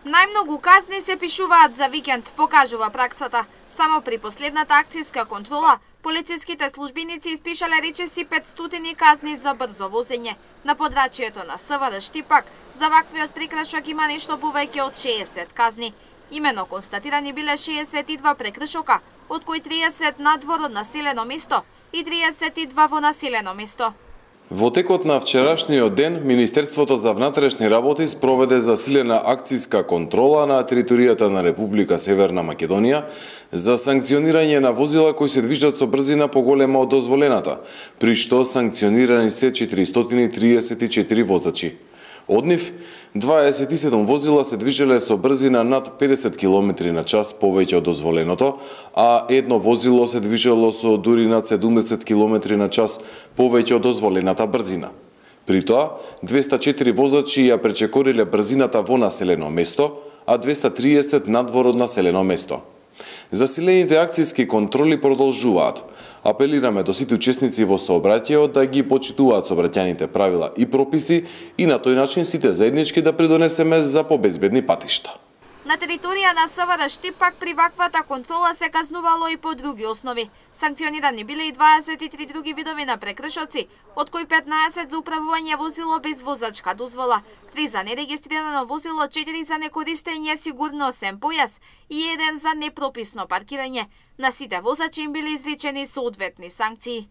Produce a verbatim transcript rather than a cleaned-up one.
Најмногу казни се пишуваат за викенд, покажува праксата. Само при последната акцијска контрола, полициските службеници испишале речиси петстотини казни за брзо возење. На подрачјето на СВР Штипак, за ваквиот прекршок има нешто повеќе од шеесет казни. Имено констатирани биле шеесет и два прекршока, од кои триесет надвор од населено место и триесет и два во населено место. Во текот на вчерашниот ден, Министерството за внатрешни работи спроведе засилена акцијска контрола на територијата на Република Северна Македонија за санкционирање на возила кои се движат со брзина поголема од дозволената, при што санкционирани се четиристотини и триесет и четири возачи. Од нив, дваесет и седум возила се движеле со брзина над педесет километри на час повеќе од дозволеното, а едно возило се движело со дури над седумдесет километри на час повеќе од дозволената брзина. При тоа, двеста и четири возачи ја пречекориле брзината во населено место, а двеста и триесет надвор од населено место. Засилените акцијски контроли продолжуваат. Апелираме до сите учесници во сообраќајот да ги почитуваат сообраќајните правила и прописи и на тој начин сите заеднички да придонесеме за побезбедни патишта. На територија на СВР Штипак при ваквата контрола се казнувало и по други основи. Санкционирани биле и дваесет и три други видови на прекршоци, од кои петнаесет за управување возило без возачка дозвола, три за нерегистрирано возило, четири за некористење сигурносен појас и еден за непрописно паркирање. На сите возачи им биле изречени соодветни санкции.